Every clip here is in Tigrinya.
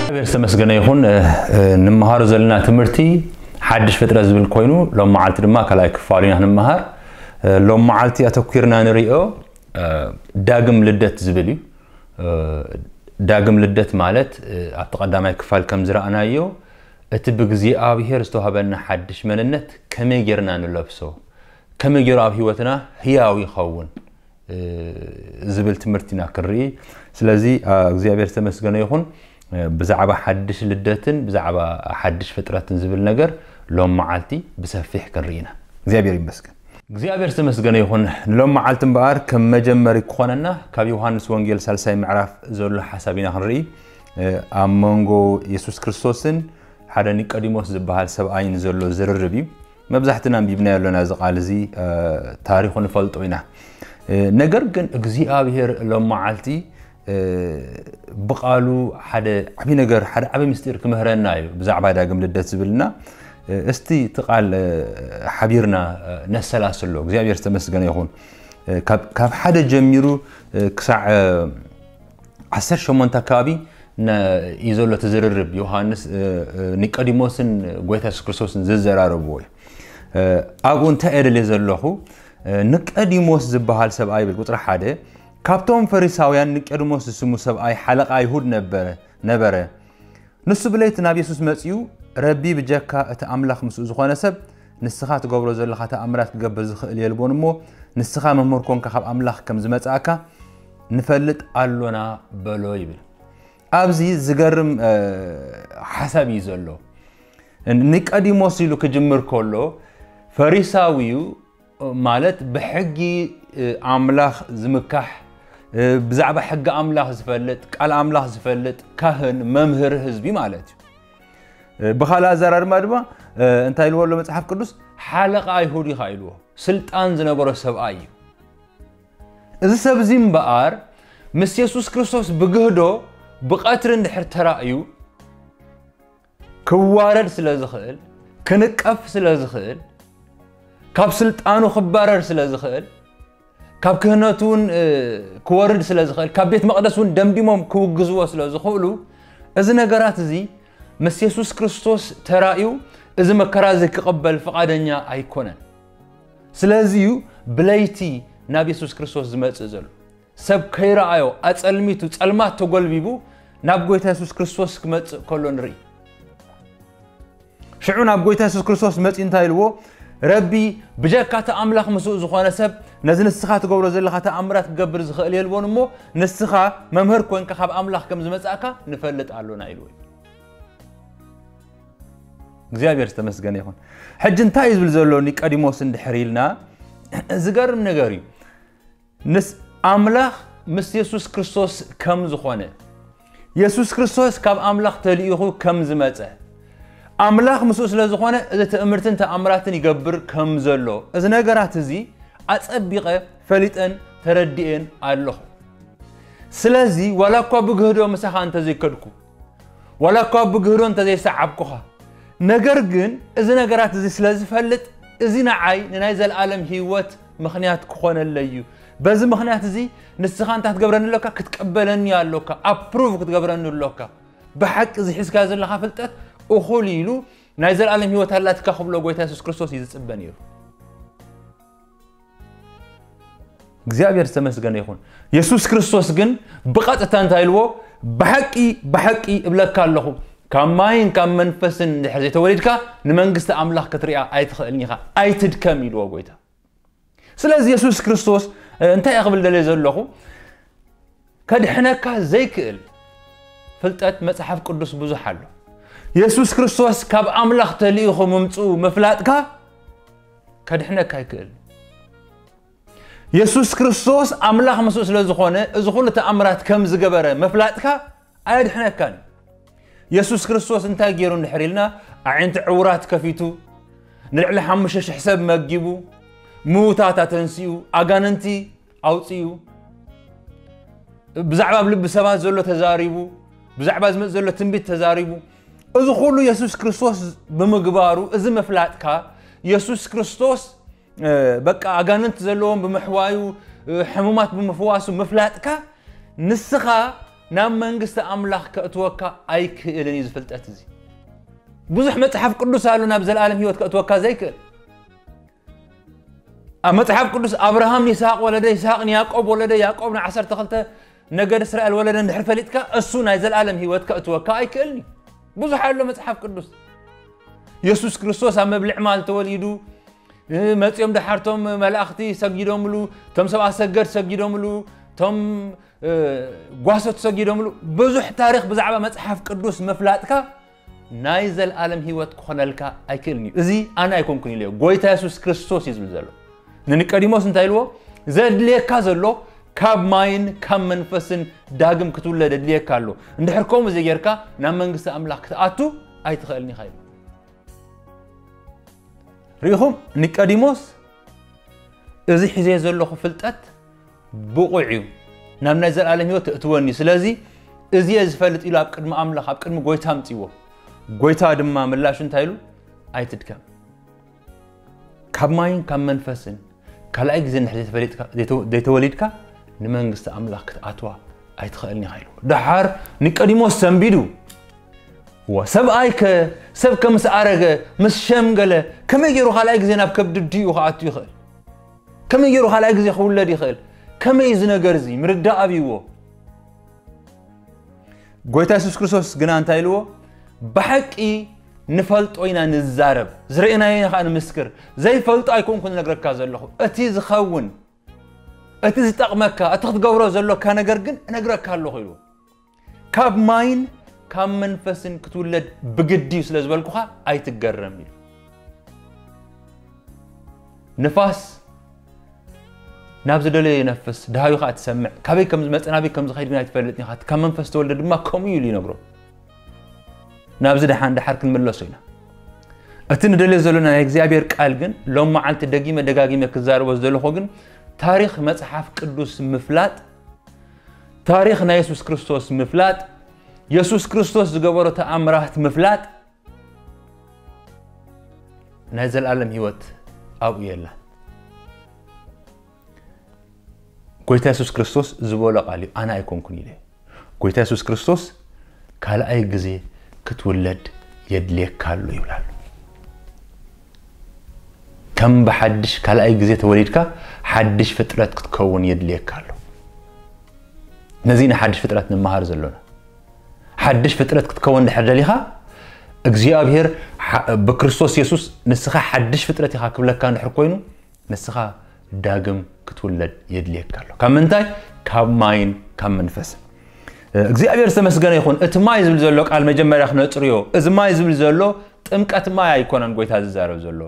እግዚኣብሔር ዝተመስገነ ይኹን። እ፣ እ፣ ንመሃሮ ዘለና ትምህርቲ ሓድሽ ፍጥረት ዝብል ኮይኑ፣ ሎም መዓልቲ ድማ ካልኣይ ክፋሉ ኢና ንመሃር። እ፣ ሎም መዓልቲ ኣተኲርና ንሪኦ፣ እ፣ ዳግም ልደት ዝብል እዩ። እ፣ ዳግም ልደት ማለት፣ እ፣ ኣብቲ ቀዳማይ ክፋል ከም ዝረኣናዮ፣ እቲ ብእግዚኣብሔር ዝተዋህበና ሓድሽ መንነት ከመይ ጌርና ንለብሶ፣ ከመይ ጌሩ ኣብ ህይወትና ህያው ይኸውን፣ እ፣ ዝብል ትምህርቲ ኢና ክንርኢ። ስለዚ፣ እ፣ እግዚኣብሔር ዝተመስገነ ይኹን። እ፣ ብዛዕባ ሓድሽ ልደትን ብዛዕባ ሓድሽ ፍጥረትን ዝብል ነገር ሎም መዓልቲ ብሰፊሕ ክንርኢ ኢና። እግዚኣብሔር ይመስገን። እግዚኣብሔር ዝተመስገነ ይኹን። ንሎም መዓልቲ እምበኣር ከም መጀመሪ ክኾነና ካብ ዮሃንስ ወንጌል ሳልሳይ ምዕራፍ ዘሎ ሓሳብ ኢና ክንርኢ። እ፣ ኣብ መንጎ የሱስ ክርስቶስን ሓደ ኒቆዲሞስ ዝበሃል ሰብኣይን ዘሎ ዝርርብ እዩ። መብዛሕትና ኣንቢብናዮ ኣለና እዚ ቃል እዚ፣ እ፣ ታሪኹ ንፈልጦ ኢና። እ፣ ነገር ግን እግዚኣብሔር ሎም መዓልቲ፣ እ፣ ብቃሉ ሓደ ዓቢ ነገር፣ ሓደ ዓቢ ምስጢር ክምህረና እዩ ብዛዕባ ዳግም ልደት ዝብልና። እ፣ እስቲ እቲ ቃል፣ እ፣ ሓቢርና፣ እ፣ ነሰላስሎ። እግዚኣብሔር ዝተመስገነ ይኹን። እ፣ ካብ፣ ካብ ሓደ ጀሚሩ፣ እ፣ ክሳዕ፣ እ፣ ዓሰርተ ሸሞንተ ኣካባቢ ነ-፣ እዩ ዘሎ እቲ ዝርርብ ዮሃንስ፣ እ፣ እ፣ ኒቆዲሞስን ጎይታ የሱስ ክርስቶስን ዝዘራረብዎ እዩ። እ፣ ኣብኡ እንታይ እየ ደልየ ዘለኹ? እ፣ ኒቆዲሞስ ዝበሃል ሰብኣይ ይብል፣ ቁጽሪ ሓደ፣ ካብቶም ፈሪሳውያን ኒቆዲሞስ ዝስሙ ሰብኣይ ሓለቓ ኣይሁድ ነበረ፣ ነበረ። ንሱ ብለይቲ ናብ የሱስ መጺኡ፣ "ረቢ፣ ብጀካ እቲ ኣምላኽ ምስኡ ዝኾነ ሰብ፣ ንስኻ ትገብሮ ዘለኻ ተኣምራት ክገብር ዝኽእል የልቦን እሞ፣ ንስኻ መምህር ኮንካ ካብ ኣምላኽ ከም ዝመጻእካ ንፈልጥ ኣሎና" በሎ ይብል። ኣብዚ ዝገርም፣ እ፣ ሓሳብ እዩ ዘሎ። ኒቆዲሞስ ኢሉ ክጅምር ከሎ፣ ፈሪሳዊ እዩ፣ ማለት ብሕጊ፣ እ፣ ኣምላኽ ዝምካሕ፣ እ፣ ብዛዕባ ሕጊ ኣምላኽ ዝፈልጥ፣ ቃል ኣምላኽ ዝፈልጥ ካህን፣ መምህር ህዝቢ ማለት እዩ። እ፣ ብኻልእ ኣዘራርባ ድማ፣ እ፣ እንታይ ኢልዎ ኣሎ መጽሓፍ ቅዱስ? ሓለቓ ኣይሁድ ኢኻ ኢልዎ። ስልጣን ዝነበሮ ሰብኣይ እዩ። እዚ ሰብ እዚ እምበኣር ምስ የሱስ ክርስቶስ ብግህዶ ብቐትሪ እንድሕር ተራእዩ፣ ክዋረድ ስለ ዝኽእል፣ ክንቀፍ ስለ ዝኽእል፣ ካብ ስልጣኑ ክባረር ስለ ዝኽእል፣ ካብ ክህነቱ እውን፣ እ፣ ክወርድ ስለ ዝኽእል፣ ካብ ቤት መቕደስ እውን ደምዲሞም ክውግዝዎ ስለ ዝኽእሉ፣ እዚ ነገራት እዚ ምስ የሱስ ክርስቶስ ተራእዩ፣ እዚ መከራ እዚ ክቕበል ፍቓደኛ ኣይኮነን። ስለዚ እዩ ብለይቲ ናብ የሱስ ክርስቶስ ዝመጽእ ዘሎ። ሰብ ከይረኣዮ ኣጸልሚቱ፣ ጸልማት ተጎልቢቡ ናብ ጎይታ የሱስ ክርስቶስ ክመጽእ ከሎ ንርኢ። ሽዑ ናብ ጎይታ የሱስ ክርስቶስ መጺኡ እንታይ ኢልዎ? "ረቢ፣ ብጀካ እቲ ኣምላኽ ምስኡ ዝኾነ ሰብ፣ ነዚ ንስኻ ትገብሮ ዘለኻ ተኣምራት ክገብር ዝኽእል የልቦን እሞ፣ ንስኻ መምህር ኮንካ ካብ ኣምላኽ ከም ዝመጻእካ ንፈልጥ ኣሎና" ኢልዎ እዩ። እግዚኣብሔር ዝተመስገነ ይኹን። ሕጂ እንታይ እዩ ዝብል ዘሎ ኒቆዲሞስ እንድሕር ኢልና፣ ዝገርም ነገር እዩ። ንስ-፣ ኣምላኽ ምስ የሱስ ክርስቶስ ከም ዝኾነ፣ የሱስ ክርስቶስ ካብ ኣምላኽ ተልኢኹ ከም ዝመጸ፣ ኣምላኽ ምስኡ ስለ ዝኾነ፣ እዚ ትእምርትን ተኣምራትን ይገብር ከም ዘሎ፣ እዚ ነገራት እዚ ኣጸቢቐ ፈሊጠን ተረዲኤን ኣለኹ። ስለዚ፣ ዋላ እኳ ብግህዶ ምሳኻ እንተዘይከድኩ፣ ዋላ እኳ ብግህዶ እንተዘይሰዓብኩኻ፣ ነገር ግን እዚ ነገራት እዚ ስለ ዝፈልጥ፣ እዚ ንዓይ ንናይ ዘለኣለም ህይወት ምኽንያት ክኾነለይ እዩ። በዚ ምኽንያት እዚ ንስኻ እንታይ ክትገብረኒ ኣሎካ? ክትቅበለኒ ኣሎካ፣ ኣፕሩቭ ክትገብረኒ ኣሎካ። ብሓቂ እዚ ሒዝካዮ ዘለኻ ፍልጠት እኹል እዩ ኢሉ ናይ ዘለኣለም ህይወት ኣላትካ ክብሎ ጎይታ የሱስ ክርስቶስ እዩ ዝጽበ ነይሩ። እግዚኣብሔር ዝተመስገነ ይኹን። የሱስ ክርስቶስ ግን ብቐጥታ እንታይ ኢልዎ? "ብሓቂ፣ ብሓቂ እብለካ ኣለኹ፣ ካብ ማይን ካብ መንፈስን እንድሕር ዘይተወሊድካ ንመንግስቲ ኣምላኽ ክትሪኣ ኣይትኽእልን ኢኻ፣ ኣይትድከም" ኢልዎ ጎይታ። ስለዚ የሱስ ክርስቶስ፣ እ፣ እንታይ እየ ክብል ደልየ ዘለኹ? ከድሕነካ ዘይክእል ፍልጠት መጽሓፍ ቅዱስ ብዙሕ ኣሎ። የሱስ ክርስቶስ ካብ ኣምላኽ ተልኢኹ ምምጽኡ ምፍላጥካ ከድሕነካ ኣይክእል። የሱስ ክርስቶስ ኣምላኽ ምስኡ ስለ ዝኾነ፣ እዚ ኩሉ ተኣምራት ከም ዝገበረ ምፍላጥካ ኣየድሕነካን እዩ። የሱስ ክርስቶስ እንታይ ገይሩ እንድሕር ኢልና፣ ኣዒንቲ ዕውራት ከፊቱ፣ ንልዕሊ ሓሙሽተ ሽሕ ሰብ መጊቡ፣ ምውታት ኣተንሲኡ፣ ኣጋንንቲ ኣውፂኡ፣ ብዛዕባ ኣብ ልቢ ሰባት ዘሎ ተዛሪቡ፣ ብዛዕባ ዝመጽእ ዘሎ ትንቢት ተዛሪቡ። እዚ ኩሉ የሱስ ክርስቶስ ብምግባሩ፣ እዚ ምፍላጥካ፣ የሱስ ክርስቶስ በቃ ኣጋንንቲ ዘለዎም ብምሕዋዩ፣ ሕሙማት ብምፍዋሱ ምፍላጥካ፣ ንስኻ ናብ መንግስቲ ኣምላኽ ከእትወካ ኣይክእልን እዩ። ዝፍልጠት እዚ ብዙሕ መጽሓፍ ቅዱስ ኣሎ ናብ ዘለኣለም ህይወት ከእትወካ ዘይክእል። ኣብ መጽሓፍ ቅዱስ ኣብርሃም ንይስሃቅ ወለደ፣ ይስሃቅ ንያዕቆብ ወለደ፣ ያዕቆብ ንዓሰርተ ክልተ ነገድ እስራኤል ወለደ እንድሕር ፈሊጥካ፣ እሱ ናይ ዘለኣለም ህይወት ከእትወካ ኣይክእልን እዩ። ብዙሕ ኣሎ መጽሓፍ ቅዱስ። የሱስ ክርስቶስ ኣብ መብልዕ ማል ተወሊዱ፣ መጺኦም ደሓርቶም መላእኽቲ ሰጊዶምሉ፣ ቶም ሰብኣ ሰገድ ሰጊዶምሉ፣ ቶም ጓሶት ሰጊዶምሉ። ብዙሕ ታሪኽ ብዛዕባ መጽሓፍ ቅዱስ ምፍላጥካ ናይ ዘለኣለም ህይወት ክኾነልካ ኣይክእልን እዩ። እዚ ኣነ ኣይኮንኩን ኢለ፣ ጎይታ የሱስ ክርስቶስ እዩ ዝብል ዘሎ። ንኒቆዲሞስ እንታይ ኢልዎ? ዘድልየካ ዘሎ ካብ ማይን ካብ መንፈስን ዳግም ክትውለድ ኣድልየካ ኣሎ። እንድሕር ከምኡ ዘይጌርካ ናብ መንግስቲ ኣምላኽ ክትኣቱ ኣይትኽእልን ኢኻ ኢሉ። ርኢኹም፣ ኒቆዲሞስ እዚ ሒዘ ዘለኹ ፍልጠት ብቑዕ እዩ፣ ናብ ናይ ዘለኣለም ህይወት ተእትወኒ፣ ስለዚ እዚ እየ ዝፈልጥ ኢሉ ኣብ ቅድሚ ኣምላኽ ኣብ ቅድሚ ጎይታ ኣምፅዎ። ጎይታ ድማ ምላሹ እንታይ ኢሉ? ኣይትድከም፣ ካብ ማይን ካብ መንፈስን ካልኣይ ግዜ እንድሕር ዘይተፈሊጥካ ዘይተወሊድካ ንመንግስቲ ኣምላኽ ክትኣትዋ ኣይትኽእልን ኢኻ ኢሉ። ደሓር ኒቆዲሞስ ሰንቢዱ፣ እዋ ሰብኣይከ ሰብ ከምስ ኣረገ ምስ ሸምገለ ከመይ ገይሩ ካልኣይ ግዜ ናብ ከብዲ ኣዲኡ ክኣቱ ይኽእል? ከመይ ገይሩ ካልኣይ ግዜ ክውለድ ይኽእል? ከመይ እዚ ነገር እዚ ምርዳእ ኣብይዎ? ጎይታ የሱስ ክርስቶስ ግና እንታይ ኢልዎ? ብሓቂ ንፈልጦ ኢና ንዛረብ፣ ዝረእናዮ ኢና ከዓ ንምስክር፣ ዘይፈልጦ ኣይኮንኩ ዝነግረካ ዘለኹ፣ እቲ ዝኸውን፣ እቲ ዝጠቕመካ፣ እቲ ክትገብሮ ዘሎካ ነገር ግን እነግረካ ኣለኹ ኢልዎ። ካብ ማይን ካብ መንፈስን ክትውለድ ብግዲ እዩ ስለ ዝበልኩኻ ኣይትገረም ኢሉ። ንፋስ ናብ ዝደለዮ ይነፍስ፣ ደሃዩ ከዓ ትሰምዕ፣ ካበይ ከም ዝመፀ ናበይ ከም ዝኸይድ ግን ኣይትፈልጥን ኢኻ፣ ካብ መንፈስ ተወልደ ድማ ከምኡ እዩ ኢሉ ይነግሮ። ናብዚ ደሓን ደሓር ክንምለሶ ኢና። እቲ ንደልዮ ዘለና ናይ እግዚኣብሔር ቃል ግን ሎም መዓልቲ ደጊመ ደጋጊመ ክዛረቦ ዝደለኹ ግን ታሪኽ መጽሓፍ ቅዱስ ምፍላጥ፣ ታሪኽ ናይ የሱስ ክርስቶስ ምፍላጥ፣ የሱስ ክርስቶስ ዝገበሮ ተኣምራት ምፍላጥ ናይ ዘለኣለም ህይወት ኣብኡ የላን። ጎይታ የሱስ ክርስቶስ ዝበሎ ቃል እዩ፣ ኣነ ኣይኮንኩን ኢለ። ጎይታ የሱስ ክርስቶስ ካልኣይ ግዜ ክትውለድ የድልየካ ኣሎ ይብላሉ። ከም ብሓድሽ ካልኣይ ግዜ ተወሊድካ ሓድሽ ፍጥረት ክትከውን የድልየካ ኣሎ። ነዚ ኢና ሓድሽ ፍጥረት ንመሃር ዘሎና። ሓድሽ ፍጥረት ክትከውን ድሕር ደሊኻ እግዚኣብሔር ብክርስቶስ የሱስ ንስኻ ሓድሽ ፍጥረት ኢኻ ክብለካ እንድሕር ኮይኑ ንስኻ ዳግም ክትውለድ የድልየካ ኣሎ። ካብ ምንታይ? ካብ ማይን ካብ መንፈስን። እግዚኣብሔር ዝተመስገነ ይኹን። እቲ ማይ ዝብል ዘሎ ቃል መጀመርያ ክነፅርዮ። እዚ ማይ ዝብል ዘሎ ጥምቀት ማይ ኣይኮነን ጎይታ ዝዛረብ ዘሎ፣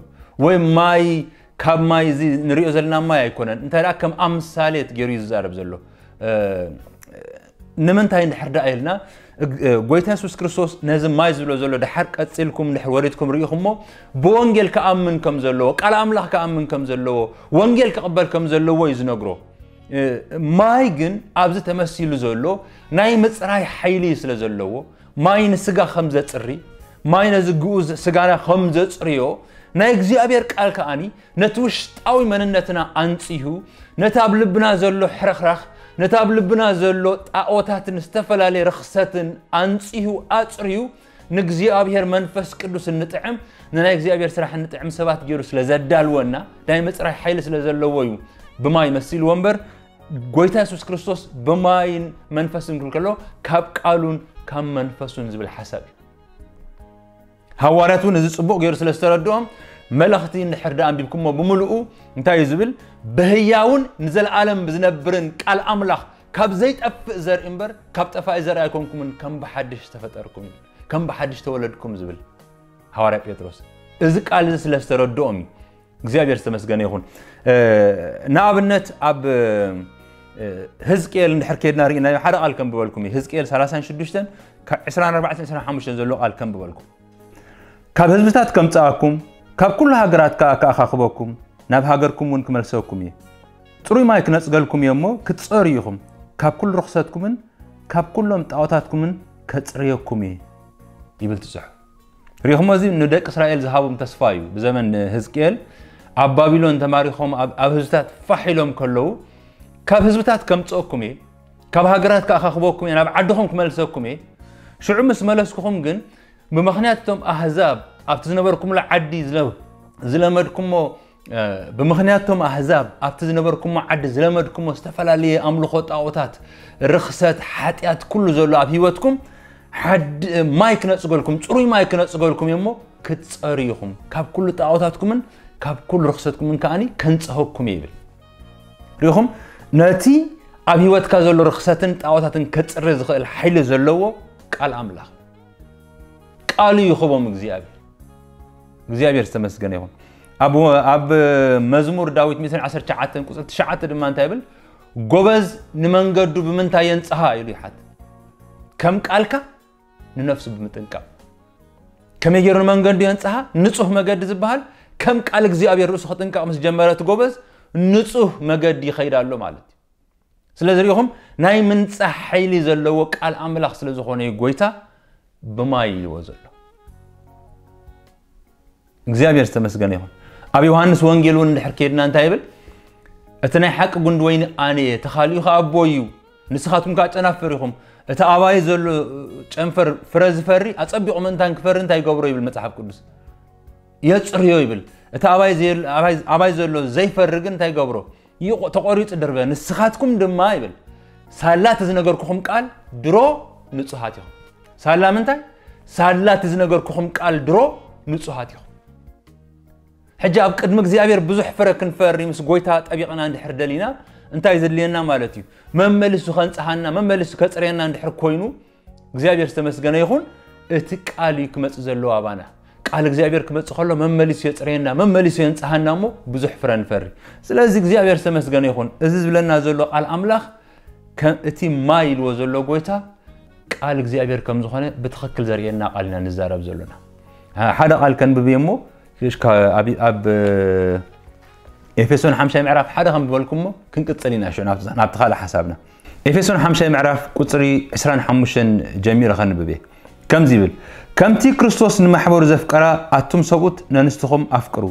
ወይ ማይ ካብ ማይ እዚ ንሪኦ ዘለና ማይ ኣይኮነን። እንታይ ደኣ ከም ኣምሳሌት ገይሩ እዩ ዝዛረብ ዘሎ። ንምንታይ እንድሕር ደኣ ኢልና፣ ጎይታ የሱስ ክርስቶስ ነዚ ማይ ዝብሎ ዘሎ ድሓር ቀፂልኩም እንድሕር ወሪድኩም ርኢኹሞ፣ ብወንጌል ክኣምን ከም ዘለዎ፣ ቃል ኣምላኽ ክኣምን ከም ዘለዎ፣ ወንጌል ክቕበል ከም ዘለዎ እዩ ዝነግሮ። ማይ ግን ኣብዚ ተመሲሉ ዘሎ ናይ ምፅራይ ሓይሊ ስለ ዘለዎ፣ ማይ ንስጋ ከም ዘፅሪ፣ ማይ ነዚ ግኡዝ ስጋና ከም ዘፅርዮ፣ ናይ እግዚኣብሔር ቃል ከኣኒ ነቲ ውሽጣዊ መንነትና ኣንጺሁ፣ ነቲ ኣብ ልብና ዘሎ ሕርኽራኽ፣ ነቲ ኣብ ልብና ዘሎ ጣኦታትን ዝተፈላለየ ርኽሰትን ኣንጺሁ ኣጽርዩ፣ ንእግዚኣብሔር መንፈስ ቅዱስ እንጥዕም፣ ንናይ እግዚኣብሔር ስራሕ እንጥዕም ሰባት ገይሩ ስለ ዘዳልወና፣ ናይ ምጽራይ ሓይሊ ስለ ዘለዎ እዩ ብማይ መሲልዎ እምበር፣ ጎይታ የሱስ ክርስቶስ ብማይን መንፈስን ክብል ከሎ፣ ካብ ቃሉን ካብ መንፈሱን ዝብል ሓሳብ እዩ። ሃዋርያት እውን እዚ ጽቡቕ ገይሩ ስለ ዝተረድኦም፣ መለኽቲ እንድሕር ደኣ ኣንቢብኩሞ ብምልኡ እንታይ እዩ ዝብል? ብህያውን ንዘለኣለም ብዝነብርን ቃል ኣምላኽ ካብ ዘይጠፍእ ዘርኢ እምበር ካብ ጠፋኢ ዘርኢ ኣይኮንኩምን፣ ከም ብሓድሽ ዝተፈጠርኩም እዩ፣ ከም ብሓድሽ ተወለድኩም ዝብል ሃዋርያ ጴጥሮስ። እዚ ቃል እዚ ስለ ዝተረድኦም እዩ። እግዚኣብሔር ዝተመስገነ ይኹን። እ፣ ንኣብነት ኣብ፣ እ፣ ህዝቅኤል እንድሕር ከይድና ርኢናዮ፣ ሓደ ቃል ከንብበልኩም እዩ። ህዝቅኤል ሰላሳን ሽዱሽተን ካብ ዕስራን ኣርባዕተን ዕስራን ሓሙሽተን ዘሎ ቃል ከንብበልኩም። ካብ ህዝብታት ከምጽኣኩም፣ ካብ ኩሉ ሃገራት ከኣ ከኣኻኽበኩም፣ ናብ ሃገርኩም እውን ክመልሰኩም እየ። ጽሩይ ማይ ክነጽገልኩም እየ እሞ ክትጸሩ ኢኹም፣ ካብ ኩሉ ርኽሰትኩምን ካብ ኩሎም ጣዖታትኩምን ከጽርየኩም እየ ይብል እቲ ጽሑፍ። ሪኹሞ፣ እዚ ንደቂ እስራኤል ዝሃቦም ተስፋ እዩ። ብዘመን ህዝቅኤል ኣብ ባቢሎን ተማሪኾም ኣብ ኣብ ህዝብታት ፋሕ ኢሎም ከለዉ፣ ካብ ህዝብታት ከምጽኦኩም እየ፣ ካብ ሃገራት ከኣኻኽበኩም እየ፣ ናብ ዓድኹም ክመልሰኩም እየ። ሽዑ ምስ መለስኩኹም ግን ብምኽንያት እቶም ኣህዛብ ኣብቲ ዝነበርኩምሉ ዓዲ ዝለ- ዝለመድኩሞ እ፣ ብምኽንያት እቶም ኣህዛብ ኣብቲ ዝነበርኩሞ ዓዲ ዝለመድኩሞ ዝተፈላለየ ኣምልኾ ጣዖታት፣ ርኽሰት፣ ሓጢኣት ኩሉ ዘሎ ኣብ ህይወትኩም ሓድ ማይ ክነጽገልኩም፣ ጽሩይ ማይ ክነጽገልኩም እየ እሞ ክትጸሩ ኢኹም፣ ካብ ኩሉ ጣዖታትኩምን ካብ ኩሉ ርኽሰትኩምን ከኣኒ ከንጽሀኩም እየ ይብል። ሪኹም፣ ነቲ ኣብ ህይወትካ ዘሎ ርኽሰትን ጣዖታትን ከጽሪ ዝኽእል ሓይሊ ዘለዎ ቃል ኣምላኽ ቃሉ ይኽቦም እግዚኣብሔር። እግዚኣብሔር ዝተመስገነ ይኹን። ኣብ ኣብ መዝሙር ዳዊት ሚእትን ዓሰርተ ትሽዓተን ቁጽሪ ትሽዓተ ድማ እንታይ ይብል? ጎበዝ ንመንገዱ ብምንታይ የንጽሃ ኢሉ ይሓት። ከም ቃልካ ንነፍሱ ብምጥንቃቕ። ከመይ ገይሩ ንመንገዱ የንጽሃ? ንጹህ መገዲ ዝበሃል ከም ቃል እግዚኣብሔር ርእሱ ክጥንቀቕ ምስ ጀመረ እቲ ጎበዝ ንጹህ መገዲ ይኸይድ ኣሎ ማለት እዩ። ስለዚ ሪኹም ናይ ምንጻህ ሓይሊ ዘለዎ ቃል ኣምላኽ ስለ ዝኾነ እዩ ጎይታ ብማይ ኢልዎ ዘሎ። እግዚኣብሔር ዝተመስገነ ይኹን። ኣብ ዮሃንስ ወንጌል እውን እንድሕር ከይድና እንታይ ይብል? እቲ ናይ ሓቂ ጉንዲ ወይኒ ኣነ እየ፣ ተኻሊኡ ኸዓ ኣቦ እዩ። ንስኻትኩም ከኣ ጨናፍር ኢኹም። እቲ ኣባይ ዘሎ ጨንፈር ፍረ ዝፈሪ ኣጸቢቑ ምእንታን ክፈሪ እንታይ ይገብሮ ይብል መጽሓፍ ቅዱስ? የጽርዮ ይብል። እቲ ኣባይ ዘየል- ኣባይ- ኣባይ ዘሎ ዘይፈሪ ግን እንታይ ይገብሮ? ይቆ- ተቆሪጹ ድርበ። ንስኻትኩም ድማ ይብል ሳላ እቲ ዝነገርኩኹም ቃል ድሮ ንጹሃት ኢኹም። ሳላ ምንታይ? ሳላ እቲ ዝነገርኩኹም ቃል ድሮ ንጹሃት ኢኹም። ሕጂ ኣብ ቅድሚ እግዚኣብሔር ብዙሕ ፍረ ክንፈሪ ምስ ጎይታ ጠቢቕና እንድሕር ደሊና እንታይ ዘድልየና ማለት እዩ? መመሊሱ ከንጽሃና፣ መመሊሱ ከጽርየና እንድሕር ኮይኑ እግዚኣብሔር ዝተመስገነ ይኹን። እቲ ቃል እዩ ክመጽእ ዘለዎ ኣባና። ቃል እግዚኣብሔር ክመጽእ ከሎ መመሊሱ የጽርየና፣ መመሊሱ የንጽሃና እሞ ብዙሕ ፍረ ንፈሪ። ስለዚ እግዚኣብሔር ዝተመስገነ ይኹን። እዚ ዝብለና ዘሎ ቃል ኣምላኽ ከም እቲ ማይ ኢልዎ ዘሎ ጎይታ ቃል እግዚኣብሔር ከም ዝኾነ ብትኽክል ዘርእየና ቃል ኢና ንዛረብ ዘሎና። አ፣ ሓደ ቃል ከንብብ እየ እሞ ሽካ ኣብ ኣብ ኤፌሶን ሓምሻይ ምዕራፍ ሓደ ከም ዝበልኩሞ ክንቅጽል ኢና ሽዑ ናብቲ ናብቲ ካልእ ሓሳብና። ኤፌሶን ሓምሻይ ምዕራፍ ቁጽሪ ዕስራን ሓሙሽተን ጀሚረ ከንብብ እየ። ከምዚ ይብል፣ ከምቲ ክርስቶስ ንማሕበሩ ዘፍቀራ ኣቱም ሰብኡት ነንስትኹም ኣፍቅሩ።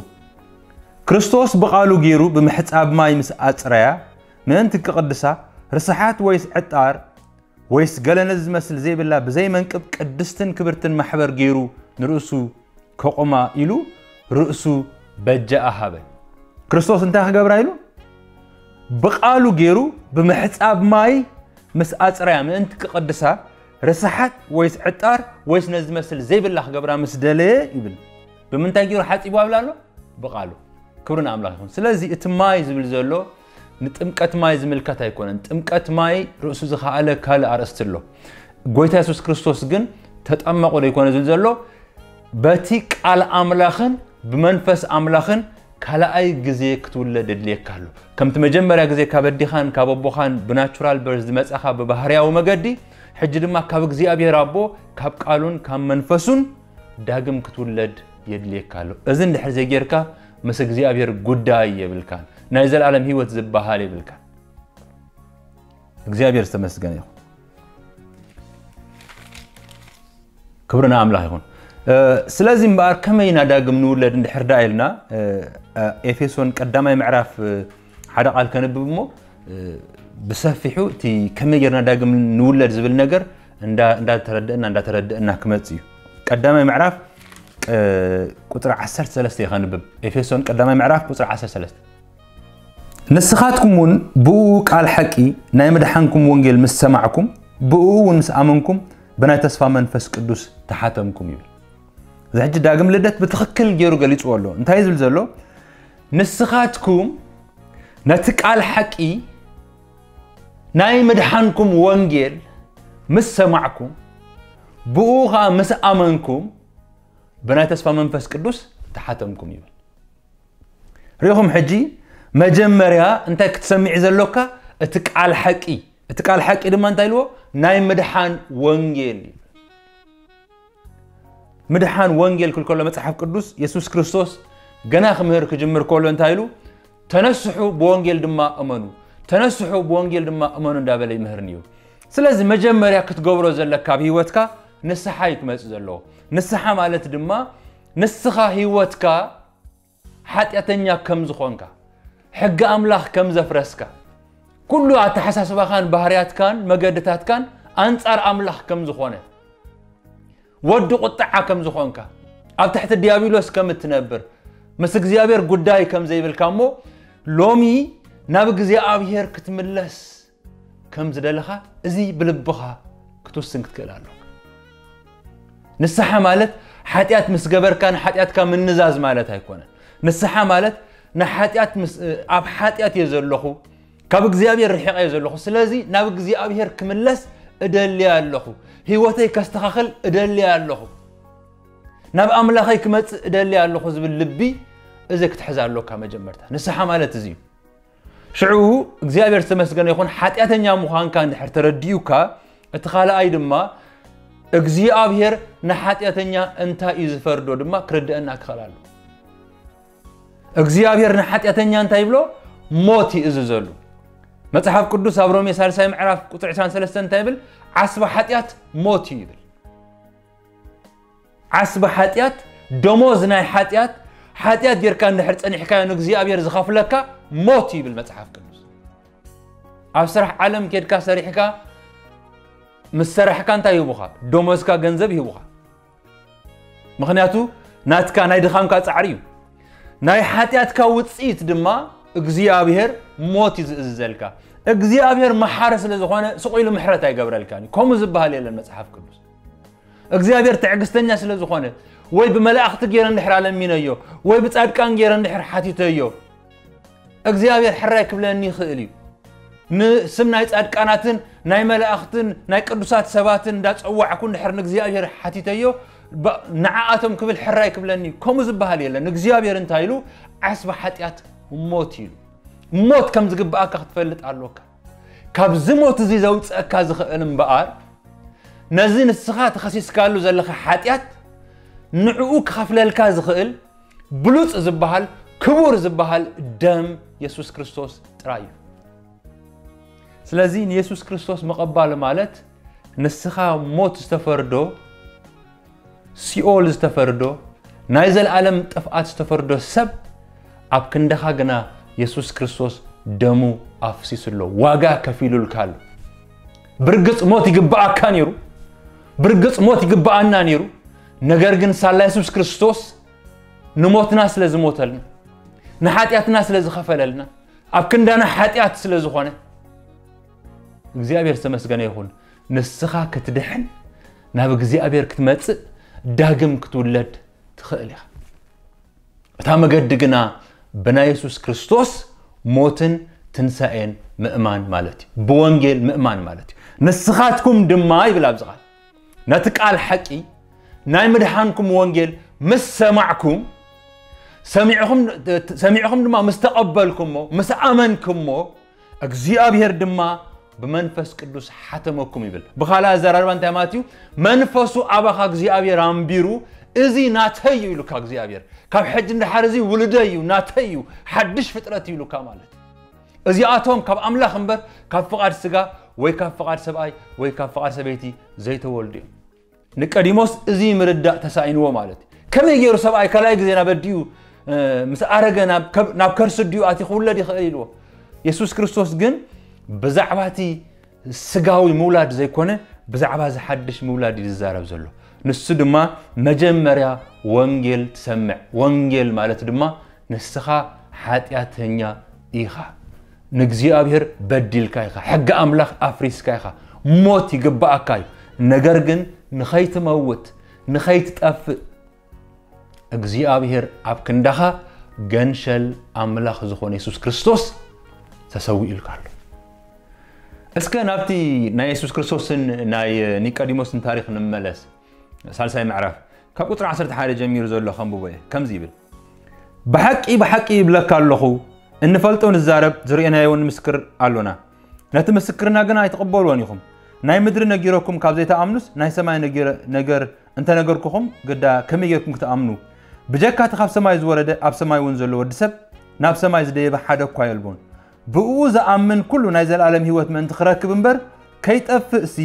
ክርስቶስ ብቓሉ ገይሩ ብምሕጻብ ማይ ምስ ኣጽረያ ምእንቲ ክቕድሳ ርስሓት ወይስ ዕጣር ወይስ ገለ ነዚ ዝመስል ዘይብላ ብዘይ መንቅብ ቅድስትን ክብርትን ማሕበር ገይሩ ንርእሱ ከቑማ ኢሉ ርእሱ በጃኣ ሃበ። ክርስቶስ እንታይ ክገብራ ኢሉ? ብቓሉ ገይሩ ብምሕጻብ ማይ ምስ ኣጽረያ ምእንቲ ክቕድሳ ርስሓት ወይስ ዕጣር ወይስ ነዚ ዝመስል ዘይብላ ክገብራ ምስ ደለየ ይብል። ብምንታይ ገይሩ ሓጺቡ ኣብላ ኣሎ? ብቓሉ። ክብሪ ንኣምላኽ ይኹን። ስለዚ እቲ ማይ ዝብል ዘሎ ንጥምቀት ማይ ዝምልከት ኣይኮነን። ጥምቀት ማይ ርእሱ ዝኸኣለ ካልእ ኣርእስቲ ኣሎ። ጎይታ የሱስ ክርስቶስ ግን ተጠመቑ ዶ ይኮነ ዝብል ዘሎ? በቲ ቃል ኣምላኽን ብመንፈስ ኣምላኽን ካልኣይ ግዜ ክትውለድ የድልየካ ኣሎ። ከምቲ መጀመርያ ግዜ ካብ ኣዴኻን ካብ ኣቦኻን ብናቹራል በርዝ ዝመጻኻ ብባህርያዊ መገዲ፣ ሕጂ ድማ ካብ እግዚኣብሔር ኣቦ ካብ ቃሉን ካብ መንፈሱን ዳግም ክትውለድ የድልየካ ኣሎ። እዚ እንድሕር ዘይጌርካ ምስ እግዚኣብሔር ጉዳይ የብልካን። ናይ ዘለኣለም ህይወት ዝበሃል የብልካን። እግዚኣብሔር ዝተመስገነ ይኹን። ክብሪ ንኣምላኽ ይኹን። እ፣ ስለዚ እምበኣር ከመይ ኢና ዳግም ንውለድ እንድሕር ደኣ ኢልና፣ እ፣ እ፣ ኤፌሶን ቀዳማይ ምዕራፍ፣ እ፣ ሓደ ቃል ከንብብ እሞ፣ እ፣ ብሰፊሑ እቲ ከመይ ጌርና ዳግም ንውለድ ዝብል ነገር እንዳ- እንዳተረደእና እንዳተረደእና ክመጽእ እዩ። ቀዳማይ ምዕራፍ፣ እ፣ ቁጽሪ ዓሰርተ ሰለስተ እዩ ከንብብ። ኤፌሶን ቀዳማይ ምዕራፍ ቁጽሪ ዓሰርተ ሰለስተ። ንስኻትኩም እውን ብኡ ቃል ሓቂ ናይ ምድሓንኩም ወንጌል ምስ ሰማዕኩም፣ ብኡ እውን ምስ ኣመንኩም፣ ብናይ ተስፋ መንፈስ ቅዱስ ተሓተምኩም ይብል። እዚ ሕጂ ዳግም ልደት ብትኽክል ገይሩ ገሊጽዎ ኣሎ። እንታይ እዩ ዝብል ዘሎ? ንስኻትኩም ነቲ ቃል ሓቂ ናይ ምድሓንኩም ወንጌል ምስ ሰማዕኩም፣ ብኡ ኸኣ ምስ ኣመንኩም፣ ብናይ ተስፋ መንፈስ ቅዱስ ተሓተምኩም ይብል። ሪኹም ሕጂ መጀመርያ እንታይ ክትሰምዕ ዘለካ? እቲ ቃል ሓቂ። እቲ ቃል ሓቂ ድማ እንታይ ኢልዎ? ናይ ምድሓን ወንጌል እዩ። ምድሓን ወንጌል ክብል ከሎ መጽሓፍ ቅዱስ የሱስ ክርስቶስ ገና ክምህር ክጅምር ከሎ እንታይ ኢሉ? ተነስሑ ብወንጌል ድማ እመኑ፣ ተነስሑ ብወንጌል ድማ እመኑ እንዳበለ ይምህርኒ እዩ። ስለዚ መጀመርያ ክትገብሮ ዘለካ ኣብ ህይወትካ ንስሓ እዩ ክመጽእ ዘለዎ። ንስሓ ማለት ድማ ንስኻ ህይወትካ ሓጢኣተኛ ከም ዝኾንካ፣ ሕጊ ኣምላኽ ከም ዘፍረስካ፣ ኩሉ ኣተሓሳስባኻን ባህርያትካን መገድታትካን ኣንጻር ኣምላኽ ከም ዝኾነ፣ ወዲ ቁጥዓ ከም ዝኾንካ፣ ኣብ ትሕቲ ዲያብሎስ ከም እትነብር፣ ምስ እግዚኣብሔር ጉዳይ ከም ዘይብልካ እሞ ሎሚ ናብ እግዚኣብሔር ክትምለስ ከም ዝደለኻ እዚ ብልብኻ ክትውስን ክትክእል ኣለካ። ንስሓ ማለት ሓጢኣት ምስ ገበርካ ንሓጢኣትካ ምንዛዝ ማለት ኣይኮነን። ንስሓ ማለት ንሓጢኣት ምስ ኣብ ሓጢኣት እየ ዘለኹ፣ ካብ እግዚኣብሔር ርሒቐ እየ ዘለኹ፣ ስለዚ ናብ እግዚኣብሔር ክምለስ እደሊ ኣለኹ፣ ህይወተይ ከስተኻኽል እደሊ ኣለኹ፣ ናብ ኣምላኸይ ክመጽእ እደሊ ኣለኹ ዝብል ልቢ እዚ ክትሕዝ ኣሎካ። መጀመርታ ንስሓ ማለት እዚ እዩ። ሽዑ እግዚኣብሔር ዝተመስገነ ይኹን፣ ሓጢኣተኛ ምዃንካ እንድሕር ተረዲኡካ፣ እቲ ካልኣይ ድማ እግዚኣብሔር ንሓጢኣተኛ እንታይ እዩ ዝፈርዶ ድማ ክርድአና ክኽእል ኣሎ። እግዚኣብሔር ንሓጢኣተኛ እንታይ ይብሎ? ሞት ይእዝዘሉ። መጽሓፍ ቅዱስ ኣብ ሮሜ ሳልሳይ ምዕራፍ ቁጽሪ ዕስራን ሰለስተን እንታይ ይብል? ዓስቢ ሓጢኣት ሞት እዩ ይብል። ዓስቢ ሓጢኣት፣ ደሞዝ ናይ ሓጢኣት፣ ሓጢኣት ጌርካ እንድሕር ጸኒሕካዮ ንእግዚኣብሔር ዝኸፍለካ ሞት ይብል መጽሓፍ ቅዱስ። ኣብ ስራሕ ዓለም ኬድካ ሰሪሕካ ምስ ሰራሕካ እንታይ ይህቡኻ? ደሞዝካ ገንዘብ ይህቡኻ። ምኽንያቱ ናትካ ናይ ድኻምካ ጻዕሪ እዩ። ናይ ሓጢኣትካ ውጽኢት ድማ እግዚኣብሔር ሞት እዩ ዝእዝዘልካ። እግዚኣብሔር መሓሪ ስለ ዝኾነ ስቕ ኢሉ ምሕረት ኣይገብረልካን እዩ። ከምኡ ዝበሃል የለን መጽሓፍ ቅዱስ። እግዚኣብሔር ትዕግስተኛ ስለ ዝኾነ፣ ወይ ብመላእኽቲ ገይረ እንድሕር ኣለሚነዮ፣ ወይ ብጻድቃን ገይረ እንድሕር ሓቲተዮ፣ እግዚኣብሔር ሕራይ ክብለኒ ይኽእል እዩ። ንስም ናይ ጻድቃናትን ናይ መላእኽትን ናይ ቅዱሳት ሰባትን እንዳጸዋዕኩ እንድሕር ንእግዚኣብሔር ሓቲተዮ፣ ባ- ንዓኣቶም ክብል ሕራይ ክብለኒ እዩ። ከምኡ ዝበሃል የለን። እግዚኣብሔር እንታይ ኢሉ? ዓስቢ ሓጢኣት ሞት ኢሉ። ሞት ከም ዝግብኣካ ክትፈልጥ ኣሎካ። ካብዚ ሞት እዚ ዘውጽኣካ ዝኽእል እምበኣር፣ ነዚ ንስኻ ተኸሲስካሉ ዘለኻ ሓጢኣት ንዕኡ ክኸፍለልካ ዝኽእል ብሉጽ ዝበሃል፣ ክቡር ዝበሃል ደም የሱስ ክርስቶስ ጥራይ እዩ። ስለዚ ንየሱስ ክርስቶስ ምቕባል ማለት ንስኻ ሞት ዝተፈርዶ፣ ሲኦል ዝተፈርዶ፣ ናይ ዘለኣለም ጥፍኣት ዝተፈርዶ ሰብ ኣብ ክንድኻ ግና የሱስ ክርስቶስ ደሙ ኣፍሲሱ ኣሎ፣ ዋጋ ከፊሉልካ ኣሎ። ብርግጽ ሞት ይግብኣካ ነይሩ፣ ብርግጽ ሞት ይግብኣና ነይሩ። ነገር ግን ሳላ የሱስ ክርስቶስ ንሞትና ስለ ዝሞተልና፣ ንሓጢኣትና ስለ ዝኸፈለልና፣ ኣብ ክንዳና ሓጢኣት ስለ ዝኾነ፣ እግዚኣብሔር ዝተመስገነ ይኹን። ንስኻ ክትድሕን፣ ናብ እግዚኣብሔር ክትመጽእ፣ ዳግም ክትውለድ ትኽእል ኢኻ። እታ መገዲ ግና ብናይ የሱስ ክርስቶስ ሞትን ትንሳኤን ምእማን ማለት እዩ። ብወንጌል ምእማን ማለት እዩ። ንስኻትኩም ድማ ይብል ኣብዚ ቃል፣ ነቲ ቃል ሓቂ ናይ ምድሓንኩም ወንጌል ምስ ሰማዕኩም፣ ሰሚዕኹም፣ ሰሚዕኹም ድማ ምስ ተቐበልኩሞ፣ ምስ ኣመንኩሞ፣ እግዚኣብሔር ድማ ብመንፈስ ቅዱስ ሓተመኩም ይብል። ብኻልእ ኣዘራርባ እንታይ ማለት እዩ? መንፈሱ ኣባኻ እግዚኣብሔር ኣንቢሩ፣ እዚ ናተይ እዩ ኢሉካ እግዚኣብሔር። ካብ ሕጂ ንደሓር እዚ ውሉደይ እዩ፣ ናተይ እዩ፣ ሓድሽ ፍጥረት እዩ ኢሉካ ማለት እዩ። እዚኣቶም ካብ ኣምላኽ እምበር ካብ ፍቓድ ስጋ ወይ ካብ ፍቓድ ሰብኣይ ወይ ካብ ፍቓድ ሰበይቲ ዘይተወልዱ እዮም። ኒቀዲሞስ እዚ ምርዳእ ተሳኢንዎ ማለት እዩ። ከመይ ገይሩ ሰብኣይ ካልኣይ ግዜ ናብ ኣዲኡ፣ እ፣ ምስ ኣረገ ናብ ከብ-፣ ናብ ከርሲ ኣዲኡ ኣትዩ ክውለድ ይኽእል ኢልዎ? የሱስ ክርስቶስ ግን ብዛዕባ እቲ ስጋዊ ምውላድ ዘይኮነ ብዛዕባ እዚ ሓድሽ ምውላድ እዩ ዝዛረብ ዘሎ። ንሱ ድማ መጀመርያ ወንጌል ትሰምዕ። ወንጌል ማለት ድማ ንስኻ ሓጢኣተኛ ኢኻ። ንእግዚኣብሔር በዲልካ ኢኻ። ሕጊ ኣምላኽ ኣፍሪስካ ኢኻ። ሞት ይግብኣካ እዩ። ነገር ግን ንኸይትመውት፣ ንኸይትጠፍእ እግዚኣብሔር ኣብ ክንዳኻ ገንሸል ኣምላኽ ዝኾነ የሱስ ክርስቶስ ተሰዊኡልካ ኣሎ። እስከ ናብቲ ናይ የሱስ ክርስቶስን ናይ ኒቆዲሞስን ታሪኽ ንመለስ። ሳልሳይ ምዕራፍ ካብ ቁጽሪ ዓሰርተ ሓደ ጀሚሩ ዘሎ ከንብቦ እየ። ከምዚ ይብል፣ ብሓቂ ብሓቂ ይብለካ ኣለኹ፣ እንፈልጦ ንዛረብ፣ ዝርእናዮ እውን ንምስክር ኣሎና፣ ነቲ ምስክርና ግን ኣይትቕበልዎን ኢኹም። ናይ ምድሪ ነጊረኩም ካብ ዘይትኣምኑስ፣ ናይ ሰማይ ነጊረ-፣ ነገር እንተነገርኩኹም ግዳ ከመይ ጌርኩም ክትኣምኑ? ብጀካ እቲ ካብ ሰማይ ዝወረደ ኣብ ሰማይ እውን ዘሎ ወዲ ሰብ ናብ ሰማይ ዝደየበ ሓደ እኳ የልቦን። ብእኡ ዝኣምን ኩሉ ናይ ዘለኣለም ህይወት ምእንቲ ክረክብ እምበር ከይጠፍእሲ፣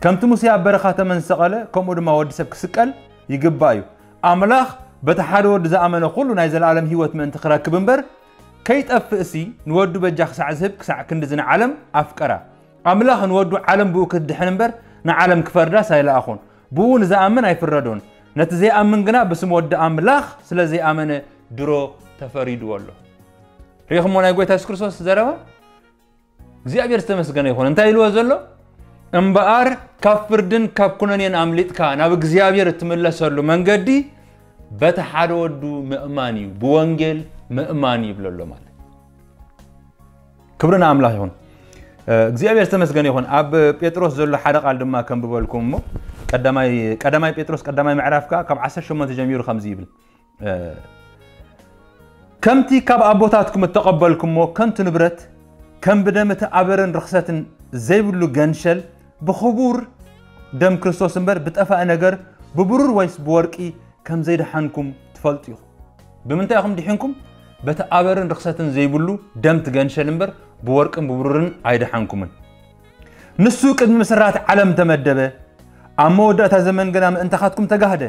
ከምቲ ሙሴ ኣብ በረኻ ተመን ዝሰቐለ፣ ከምኡ ድማ ወዲ ሰብ ክስቀል ይግባእ እዩ። ኣምላኽ በቲ ሓደ ወዱ ዝኣመነ ኩሉ ናይ ዘለኣለም ህይወት ምእንቲ ክረክብ እምበር ከይጠፍእሲ፣ ንወዱ በጃ ክሳዕ ዝህብ ክሳዕ ክንድዚ ንዓለም ኣፍቀራ። ኣምላኽ ንወዱ ዓለም ብኡ ክትድሕን እምበር ንዓለም ክፈርዳስ ኣይለኣኹን። ብኡ ንዝኣምን ኣይፍረዶን። ነቲ ዘይኣምን ግና ብስም ወዲ ኣምላኽ ስለ ዘይኣመነ ድሮ ተፈሪድዎ ኣሎ። ርኢኹሞ ናይ ጎይታ የሱስ ክርስቶስ ዘረባ? እግዚኣብሔር ዝተመስገነ ይኹን። እንታይ ኢልዎ ዘሎ? እምበኣር ካብ ፍርድን ካብ ኩነኔን ኣምሊጥካ ናብ እግዚኣብሔር እትምለሰሉ መንገዲ በቲ ሓደ ወዱ ምእማን እዩ፣ ብወንጌል ምእማን ይብሎ ኣሎ ማለት። ክብሪ ንኣምላኽ ይኹን። እ፣ እግዚኣብሔር ዝተመስገነ ይኹን። ኣብ ጴጥሮስ ዘሎ ሓደ ቃል ድማ ከንብበልኩም እሞ፣ ቀዳማይ፣ ቀዳማይ ጴጥሮስ ቀዳማይ ምዕራፍ ከኣ ካብ ዓሰርተ ሸሞንተ ጀሚሩ ከምዚ ይብል። እ፣ ከምቲ ካብ ኣቦታትኩም እተቐበልኩሞ ከንቱ ንብረት፣ ከም ብደም እቲ ኣበርን ርኽሰትን ዘይብሉ ገንሸል፣ ብኽቡር ደም ክርስቶስ እምበር ብጠፋኢ ነገር፣ ብብሩር ወይስ ብወርቂ ከም ዘይደሓንኩም ትፈልጡ ኢኹም። ብምንታይ ኢኹም ድሒንኩም? በቲ ኣበርን ርኽሰትን ዘይብሉ ደም ትገንሸል እምበር ብወርቅን ብብሩርን ኣይደሓንኩምን። ንሱ ቅድሚ ምስራት ዓለም ተመደበ፣ ኣብ መወዳእታ ዘመን ግና ምእንታኻትኩም ተጋህደ።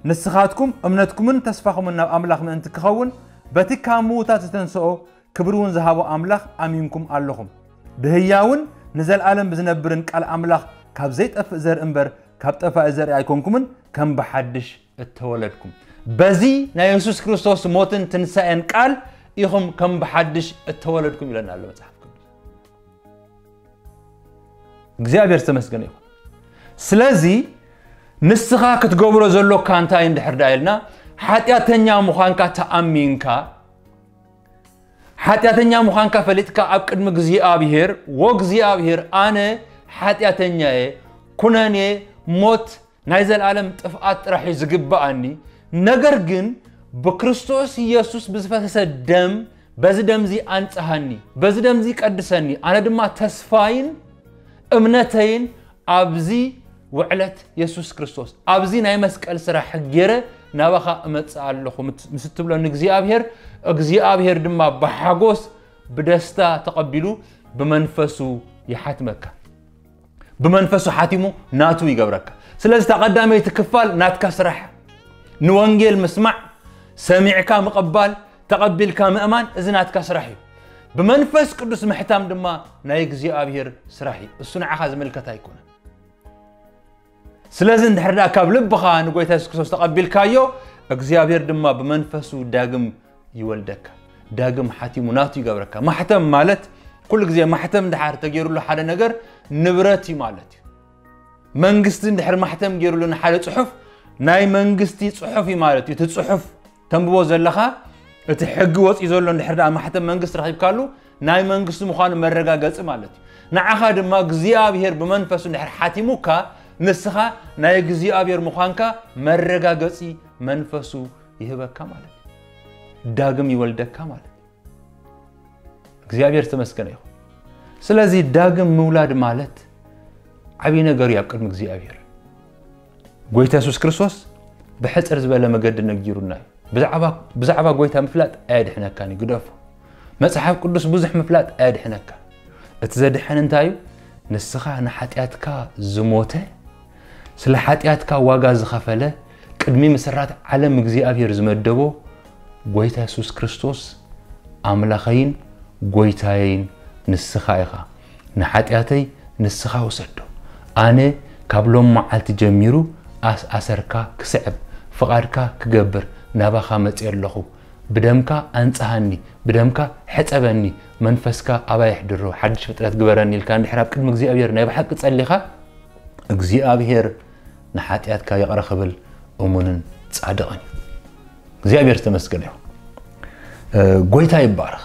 ንስኻትኩም እምነትኩምን ተስፋኹምን ናብ ኣምላኽ ምእንቲ ክኸውን፣ በቲ ካብ ምዉታት ዝተንስኦ ክብሪ እውን ዝሃቦ ኣምላኽ ኣሚንኩም ኣለኹም። ብህያውን ንዘለኣለም ብዝነብርን ቃል ኣምላኽ ካብ ዘይጠፍእ ዘርኢ እምበር ካብ ጠፋኢ ዘርኢ ኣይኮንኩምን፣ ከም ብሓድሽ እተወለድኩም። በዚ ናይ የሱስ ክርስቶስ ሞትን ትንሳኤን ቃል ኢኹም ከም ብሓድሽ እተወለድኩም ኢለና ኣሎ መጽሓፍ ቅዱስ። እግዚኣብሔር ዝተመስገነ ይኹን። ስለዚ ንስኻ ክትገብሮ ዘሎካ እንታይ እንድሕር ዳ ኢልና፣ ሓጢኣተኛ ምዃንካ ተኣሚንካ፣ ሓጢኣተኛ ምዃንካ ፈሊጥካ ኣብ ቅድሚ እግዚኣብሔር፣ "ወ እግዚኣብሔር፣ ኣነ ሓጢኣተኛ እየ፣ ኩነኔ፣ ሞት፣ ናይ ዘለኣለም ጥፍኣት ጥራሕ እዩ ዝግብኣኒ። ነገር ግን ብክርስቶስ ኢየሱስ ብዝፈሰሰ ደም፣ በዚ ደምዚ ኣንጽሃኒ፣ በዚ ደምዚ ቀድሰኒ። ኣነ ድማ ተስፋይን እምነተይን ኣብዚ ውዕለት የሱስ ክርስቶስ፣ ኣብዚ ናይ መስቀል ስራሕ ገይረ ናባኻ እመጽእ ኣለኹ" ምስ፣ ምስ እትብሎ ንእግዚኣብሔር፣ እግዚኣብሔር ድማ ብሓጎስ ብደስታ ተቐቢሉ ብመንፈሱ ይሓትመካ። ብመንፈሱ ሓቲሙ ናቱ ይገብረካ። ስለዚ እታ ቀዳመይቲ ክፋል ናትካ ስራሕ፣ ንወንጌል ምስማዕ፣ ሰሚዕካ ምቕባል፣ ተቐቢልካ ምእማን፣ እዚ ናትካ ስራሕ እዩ። ብመንፈስ ቅዱስ ምሕታም ድማ ናይ እግዚኣብሔር ስራሕ እዩ። እሱ ንዓኻ ዝምልከት ኣይኮነን። ስለዚ እንድሕር ደኣ ካብ ልብኻ ንጎይታ የሱስ ክርስቶስ ተቐቢልካዮ፣ እግዚኣብሔር ድማ ብመንፈሱ ዳግም ይወልደካ፣ ዳግም ሓቲሙ ናቱ ይገብረካ። ማሕተም ማለት፣ ኩሉ ግዜ ማሕተም እንድሓር ተገይሩሉ ሓደ ነገር ንብረት እዩ ማለት እዩ። መንግስቲ እንድሕር ማሕተም ገይሩሉ ንሓደ ጽሑፍ፣ ናይ መንግስቲ ጽሑፍ እዩ ማለት እዩ። እቲ ጽሑፍ ተንብቦ ዘለኻ፣ እቲ ሕጊ ወጺኡ ዘሎ እንድሕር ደኣ ማሕተም መንግስቲ ረኺብካሉ፣ ናይ መንግስቲ ምዃኑ መረጋገጺ ማለት እዩ። ንዓኻ ድማ እግዚኣብሔር ብመንፈሱ እንድሕር ሓቲሙካ፣ ንስኻ ናይ እግዚኣብሔር ምዃንካ መረጋገጺ መንፈሱ ይህበካ ማለት እዩ። ዳግም ይወልደካ ማለት እዩ። እግዚኣብሔር ዝተመስገነ ይኹን። ስለዚ ዳግም ምውላድ ማለት ዓብዪ ነገር እዩ ኣብ ቅድሚ እግዚኣብሔር። ጎይታ የሱስ ክርስቶስ ብሕጽር ዝበለ መገዲ ነጊሩና እዩ። ብዛዕባ፣ ብዛዕባ ጎይታ ምፍላጥ ኣየድሕነካን እዩ፣ ግደፎ። መጽሓፍ ቅዱስ ብዙሕ ምፍላጥ ኣየድሕነካን። እቲ ዘድሕን እንታይ እዩ? ንስኻ ንሓጢኣትካ ዝሞተ፣ ስለ ሓጢኣትካ ዋጋ ዝኸፈለ፣ ቅድሚ ምስራት ዓለም እግዚኣብሔር ዝመደቦ ጎይታ የሱስ ክርስቶስ ኣምላኸይን ጎይታየይን ንስኻ ኢኻ። ንሓጢኣተይ ንስኻ ውሰዶ። ኣነ ካብ ሎም መዓልቲ ጀሚሩ ኣስ-፣ ኣሰርካ ክስዕብ፣ ፍቓድካ ክገብር ናባኻ መጺአ ኣለኹ። ብደምካ ኣንጽሃኒ፣ ብደምካ ሕጸበኒ፣ መንፈስካ ኣባይ ኣሕድሮ፣ ሓድሽ ፍጥረት ግበረኒ ኢልካ እንድሕር ኣብ ቅድሚ እግዚኣብሔር ናይ ብሓቂ ጸሊኻ፣ እግዚኣብሔር ንሓጢኣትካ ይቕረ ክብል እሙንን ጻድቕን እዩ። እግዚኣብሔር ዝተመስገነ ይኹን። እ፣ ጎይታ ይባረኽ።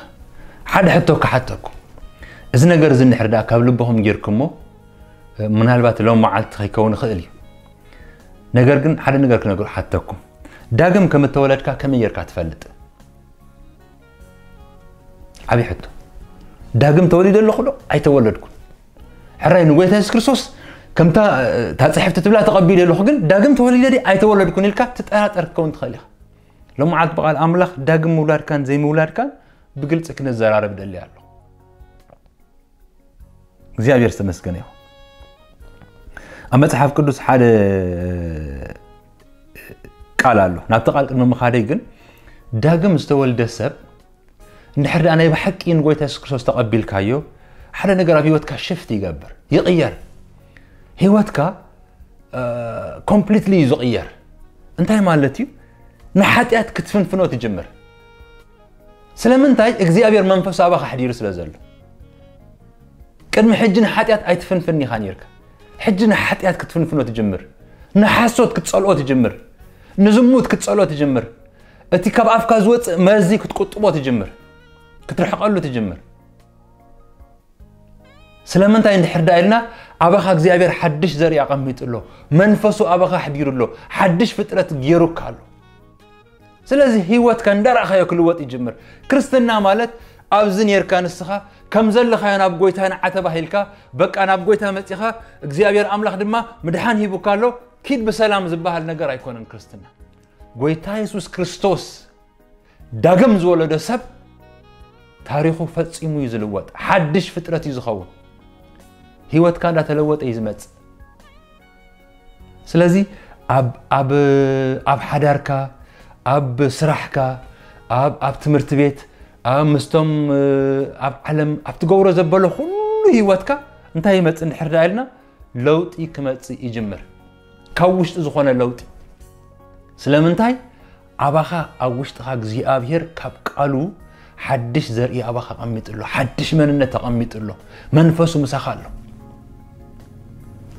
ሓደ ሕቶ ክሓተኩም። እዚ ነገር እዚ እንድሕር ደኣ ካብ ልብኹም ጌርኩሞ፣ እ፣ ምናልባት ሎም መዓልቲ ከይከውን ይኽእል እዩ። ነገር ግን ሓደ ነገር ክነግር ሓተኩም። ዳግም ከም እተወለድካ ከመይ ጌርካ ትፈልጥ? ዓብዪ ሕቶ። ዳግም ተወሊደ ኣለኹ ዶ ኣይተወለድኩን? ሕራይ ንጎይታ የሱስ ክርስቶስ ከምታ፣ እታ ጽሕፍቲ ትብላ ተቐቢለ ኣለኹ፣ ግን ዳግም ተወሊደ ድየ ኣይተወለድኩን ኢልካ ትጠራጠር ክትከውን ትኽእል ኢኻ። ሎም መዓልቲ ብቓል ኣምላኽ ዳግም ምውላድካን ዘይምውላድካን ብግልፂ ክንዘራረብ ደሊ ኣሎ። እግዚኣብሔር ዝተመስገነ ይኹን። ኣብ መፅሓፍ ቅዱስ ሓደ ቃል ኣሎ። ናብቲ ቃል ቅድሚ ምኻደይ ግን፣ ዳግም ዝተወልደ ሰብ እንድሕር ደኣ ናይ ብሓቂ ንጎይታ የሱስ ክርስቶስ ተቐቢልካዮ፣ ሓደ ነገር ኣብ ህይወትካ ሽፍት ይገብር፣ ይቕየር። ህይወትካ ኮምፕሊትሊ እዩ ዝቕየር። እንታይ ማለት እዩ? ንሓጢኣት ክትፍንፍኖ ትጅምር። ስለምንታይ? እግዚኣብሔር መንፈሱ ኣባኻ ኣሕዲሩ ስለ ዘሎ። ቅድሚ ሕጂ ንሓጢኣት ኣይትፍንፍን ኢኻ ነርካ። ሕጂ ንሓጢኣት ክትፍንፍኖ ትጅምር። ንሓሶት ክትጸልኦ ትጅምር። ንዝሙት ክትጸልኦ ትጅምር። እቲ ካብ ኣፍካ ዝወጽእ መርዚ ክትቁጥቦ ትጅምር። ክትርሕቐሉ ትጅምር። ስለምንታይ እንድሕር ደኣ ኢልና፣ ኣባኻ እግዚኣብሔር ሓድሽ ዘርኢ ኣቐሚጡ ኣሎ። መንፈሱ ኣባኻ ኣሕዲሩ ኣሎ። ሓድሽ ፍጥረት ገይሩካ ኣሎ። ስለዚ ህይወትካ እንዳረኣኻዮ ክልወጥ ይጅምር። ክርስትና ማለት ኣብዚ ኔርካ ንስኻ ከም ዘለኻዮ ናብ ጎይታ ንዓ ተባሂልካ፣ በቃ ናብ ጎይታ መጺኻ፣ እግዚኣብሔር ኣምላኽ ድማ ምድሓን ሂቡካ ኣሎ፣ ኪድ ብሰላም ዝበሃል ነገር ኣይኮነን ክርስትና። ጎይታ የሱስ ክርስቶስ ዳግም ዝወለደ ሰብ ታሪኹ ፈጺሙ እዩ ዝልወጥ። ሓድሽ ፍጥረት እዩ ዝኸውን። ህይወትካ እንዳተለወጠ እዩ ዝመጽእ። ስለዚ ኣብ፣ ኣብ፣ ኣብ ሓዳርካ፣ ኣብ ስራሕካ፣ ኣብ፣ ኣብ ትምህርቲ ቤት፣ ኣብ ምስቶም፣ ኣብ ዓለም፣ ኣብ ትገብሮ ዘበሎ ኩሉ ህይወትካ እንታይ ይመጽእ እንድሕር ደኣ ኢልና፣ ለውጢ ክመጽእ ይጅምር። ካብ ውሽጢ ዝኾነ ለውጢ። ስለምንታይ? ኣባኻ ኣብ ውሽጥኻ እግዚኣብሔር ካብ ቃሉ ሓድሽ ዘርኢ ኣባኻ ኣቐሚጡ ኣሎ። ሓድሽ መንነት ተቐሚጡ ኣሎ። መንፈሱ ምሳኻ ኣሎ።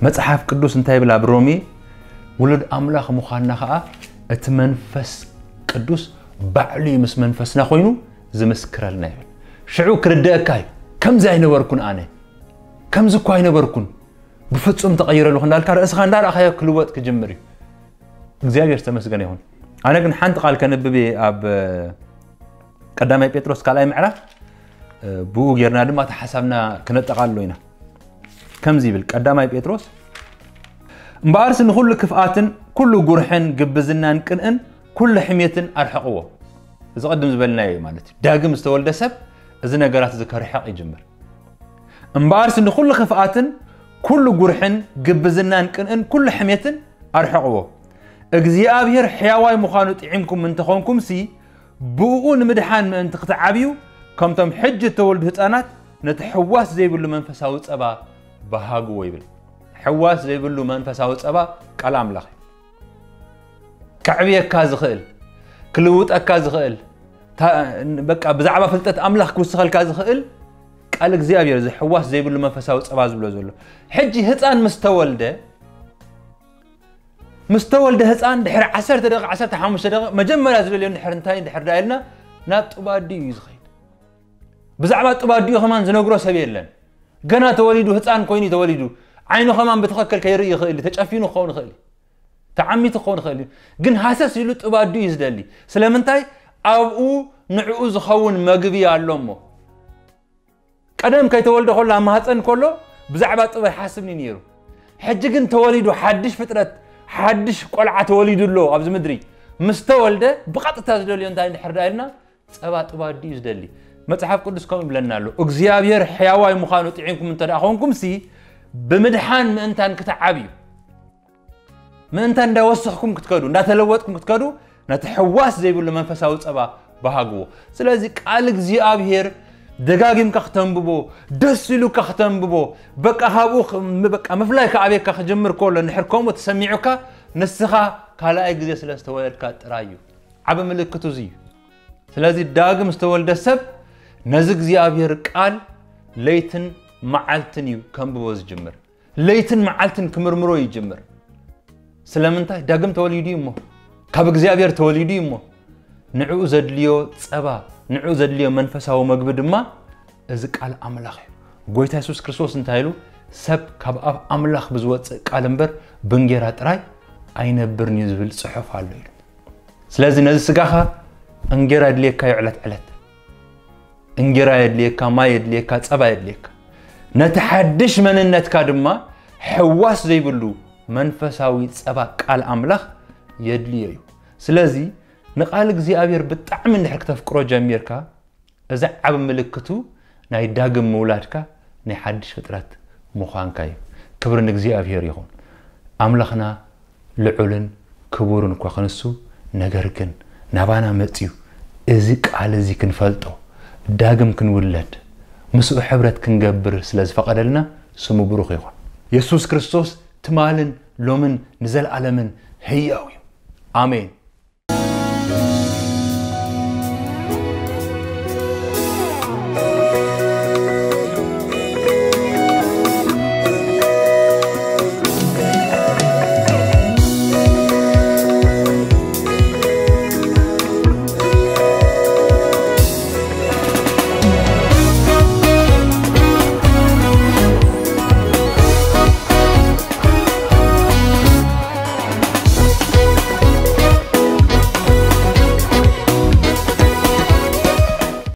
መጽሓፍ ቅዱስ እንታይ ይብል ኣብ ሮሜ? ውሉድ ኣምላኽ ምዃንና ኸኣ እቲ መንፈስ ቅዱስ ባዕሉ እዩ ምስ መንፈስና ኮይኑ ዝምስክረልና ይብል። ሽዑ ክርደአካ እዩ። ከምዚ ኣይነበርኩን ኣነ። ከምዚ እኳ ኣይነበርኩን። ብፍጹም ተቐይረ ኣለኹ እንዳልካ ርእስኻ እንዳረኣኻዮ ክልወጥ ክጅምር እዩ። እግዚኣብሔር ዝተመስገነ ይኹን። ኣነ ግን ሓንቲ ቃል ከንብብ እየ ኣብ ቀዳማይ ጴጥሮስ ካልኣይ ምዕራፍ፣ ብኡ ጌርና ድማ እቲ ሓሳብና ክነጠቓልሎ ኢና። ከምዚ ይብል ቀዳማይ ጴጥሮስ፣ እምበኣርሲ ንኹሉ ክፍኣትን ኩሉ ጉርሕን ግብዝናን ቅንእን ኩሉ ሕሜትን ኣርሕቕዎ። እዚ ቅድም ዝበልናዮ እዩ ማለት እዩ። ዳግም ዝተወልደ ሰብ እዚ ነገራት እዚ ከርሕቕ ይጅምር። እምበኣርሲ ንኹሉ ክፍኣትን ኩሉ ጉርሕን ግብዝናን ቅንእን ኩሉ ሕሜትን ኣርሕቕዎ። እግዚኣብሔር ሕያዋይ ምዃኑ ጥዒምኩም እንተኾንኩምሲ፣ ብእኡ ንምድሓን ምእንቲ ክትዓብዩ፣ ከምቶም ሕጂ እተወልዱ ህፃናት ነቲ ሕዋስ ዘይብሉ መንፈሳዊ ጸባ በሃግዎ ይብል። ሕዋስ ዘይብሉ መንፈሳዊ ጸባ ቃል ኣምላኽ እዩ። ከዕብየካ ዝኽእል፣ ክልውጠካ ዝኽእል፣ ታ-፣ በቃ ብዛዕባ ፍልጠት ኣምላኽ ክውስኸልካ ዝኽእል ቃል እግዚኣብሔር፣ እዚ ሕዋስ ዘይብሉ መንፈሳዊ ጸባ ዝብሎ ዘሎ። ሕጂ ህፃን ምስ ተወልደ፣ ምስ ተወልደ ህፃን ድሕሪ ዓሰርተ ደቂቕ፣ ዓሰርተ ሓሙሽተ ደቂቕ መጀመርያ ዝደልዮ እንድሕር እንታይ እንድሕር ደኣ ኢልና፣ ናብ ጡብ ኣዲኡ እዩ ዝኸይድ። ብዛዕባ ጡብ ኣዲኡ ከማን ዝነግሮ ሰብ የለን። ገና ተወሊዱ፣ ህፃን ኮይኑ እዩ ተወሊዱ። ዓይኑ ከማን ብትኽክል ከይርኢ ይኽእል እዩ፣ ተጨፊኑ ክኸውን ይኽእል እዩ፣ ተዓሚቱ ክኸውን ይኽእል እዩ። ግን ሃሰስ ኢሉ ጡብ ኣዲኡ እዩ ዝደሊ። ስለምንታይ? ኣብኡ ንዕኡ ዝኸውን መግቢ ኣሎ እሞ። ቀደም ከይተወልደ ከሎ፣ ኣብ ማህፀን ከሎ ብዛዕባ ጡብ ኣይሓስብን እዩ ነይሩ። ሕጂ ግን ተወሊዱ፣ ሓድሽ ፍጥረት፣ ሓድሽ ቆልዓ ተወሊዱ ኣሎ ኣብዚ ምድሪ። ምስ ተወልደ ብቐጥታ ዝደልዮ እንታይ እንድሕር ደኣ ኢልና፣ ጸባ ጡብ ኣዲኡ እዩ ዝደሊ። መጽሓፍ ቅዱስ ከምኡ ይብለና ኣሎ። እግዚኣብሔር ሕያዋይ ምዃኑ ጥዒምኩም እንተ ደኣ ኾንኩምሲ፣ ብምድሓን ምእንታን ክትዓብዩ፣ ምእንታን እንዳወሰኽኩም ክትከዱ፣ እንዳተለወጥኩም ክትከዱ፣ ነቲ ሕዋስ ዘይብሉ መንፈሳዊ ጸባ በሃግዎ። ስለዚ ቃል እግዚኣብሔር ደጋጊምካ ክተንብቦ፣ ደስ ኢሉካ ክተንብቦ፣ በቃ ካብኡ ኽ-፣ ም-፣ በቃ ምፍላይ ክኣብየካ ክጅምር ከሎ፣ እንድሕር ከምኡ ተሰሚዑካ፣ ንስኻ ካልኣይ ግዜ ስለ ዝተወለድካ ጥራይ እዩ። ዓቢ ምልክቱ እዚ እዩ። ስለዚ ዳግም ዝተወልደ ሰብ ነዚ እግዚኣብሔር ቃል ለይትን መዓልትን እዩ ከንብቦ ዝጅምር። ለይትን መዓልትን ክምርምሮ ይጅምር። ስለምንታይ? ዳግም ተወሊዱ እዩ እሞ፣ ካብ እግዚኣብሔር ተወሊዱ እዩ እሞ፣ ንዕኡ ዘድልዮ ጸባ፣ ንዕኡ ዘድልዮ መንፈሳዊ መግቢ ድማ እዚ ቃል ኣምላኽ እዩ። ጎይታ የሱስ ክርስቶስ እንታይ ኢሉ? "ሰብ ካብ ኣፍ ኣምላኽ ብዝወጽእ ቃል እምበር ብእንጌራ ጥራይ ኣይነብርን እዩ" ዝብል ጽሑፍ ኣሎ ኢሉ። ስለዚ ነዚ ስጋኻ እንጌራ የድልየካ እዩ ዕለት ዕለት። እንጌራ የድልየካ፣ ማይ የድልየካ፣ ጸባ የድልየካ። ነቲ ሓድሽ መንነትካ ድማ ሕዋስ ዘይብሉ መንፈሳዊ ጸባ ቃል ኣምላኽ የድልዮ እዩ። ስለዚ ንቃል እግዚኣብሔር ብጣዕሚ እንድሕር ክተፍቅሮ ጀሚርካ፣ እዚ ዓብ ምልክቱ ናይ ዳግም ምውላድካ ናይ ሓድሽ ፍጥረት ምዃንካ እዩ። ክብሪ ንእግዚኣብሔር ይኹን። ኣምላኽና ልዑልን ክቡርን እኳ ክንሱ፣ ነገር ግን ናባና መጽዩ እዚ ቃል እዚ ክንፈልጦ፣ ዳግም ክንውለድ፣ ምስኡ ሕብረት ክንገብር ስለ ዝፈቐደልና ስሙ ብሩኽ ይኹን። የሱስ ክርስቶስ ትማልን ሎምን ንዘለኣለምን ህያው እዩ። ኣሜን።